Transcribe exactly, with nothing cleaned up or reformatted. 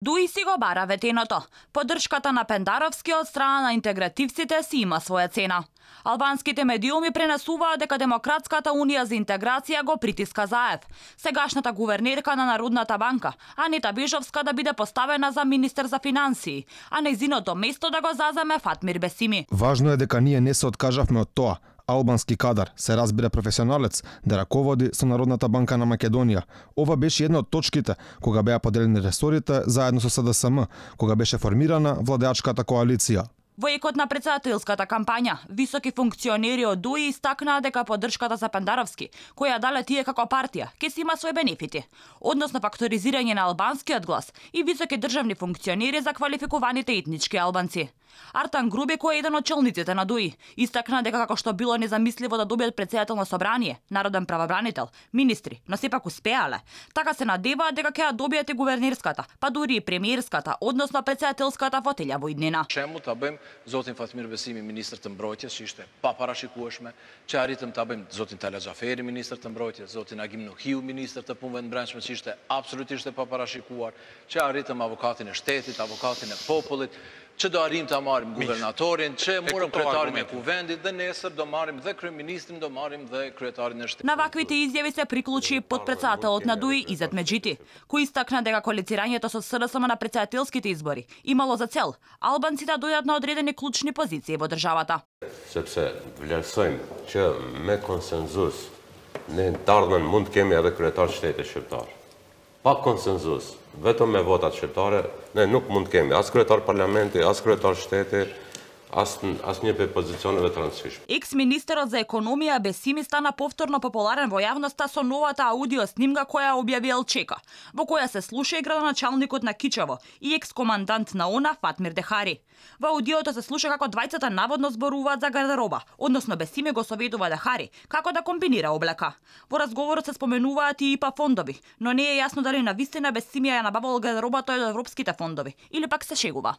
Дуи си го бара ветеното. Поддршката на Пендаровски од страна на интегративците си има своја цена. Албанските медиуми пренесуваат дека Демократската унија за интеграција го притиска Заев, сегашната гувернерка на Народната банка, Анита Бежовска, да биде поставена за министер за финансии, а нејзиното место да го заземе Фатмир Бесими. Важно е дека ние не се откажавме од тоа. Албански кадар, се разбира професионалец, да раководи со Народната банка на Македонија. Ова беше една од точките кога беа поделени ресорите заедно со С Д С М, кога беше формирана владеачката коалиција. Во екот на претседателската кампања, високи функционери од ДУИ истакнаа дека поддршката за Пендаровски, која дале тие како партија, ќе си има свој бенефити, односно факторизирање на албанскиот глас и високи државни функционери за квалификуваните етнички албанци. Артан Груби, кој е еден од челниците на ДУИ, истакна дека како што било незамисливо да добијат претседателно собрание, народен правобранител, министри, но сепак успеале. Така се надеваат дека ќе ја добијат и гувернерската, па дури и премиерската, односно претседателската фотелја во иднина. Чему та бем зотин Фатмир Бесими министр të mbrojtjes, që ishte pa parashikueshme, që arritëm ta bëjmë zotin Tala Xhaferi ministër të mbrojtjes, zotin Agim Nuhiu ministër të punëve të brendshme, që ishte absolutisht e pa parashikuar, që arritëm avokatin e shtetit, avokatin e popullit, që do arrim të marrim guvernatorin, që morëm kryetarin e kuvendit dhe nesër do marrim dhe kryeministrin, do marrim dhe kryetarin e shtetit. На ваквите изјави се приклучи потпредседателот на ДУИ Изет Меджити, кој истакна дека коалицирањето со С Д С М на претседателските избори имало за цел албанците да дојдат на одредени клучни позиции во државата. Sepse vlerësojmë që me konsenzus ne të ardhmen mund të kemi edhe kryetar shteti shqiptar. Pa konsenzus, vetëm me votat shqiptare, ne nuk mund të kemi as kryetar parlamenti, as kryetar shteti, as as një pe pozicioneve të rëndësishme. Екс-министерот за економија Бесими стана повторно популарен во јавноста со новата аудио снимка која објави Елчека, во која се слуша и градоначалникот на Кичево и екс-командант на ОНА Фатмир Дехари. Во аудиото се слуша како двајцата наводно зборуваат за гардероба, односно Бесими го советува Дехари како да комбинира облека. Во разговорот се споменуваат и ИПА фондови, но не е јасно дали навистина Бесими ја набавал гардеробата од европските фондови или пак се шегува.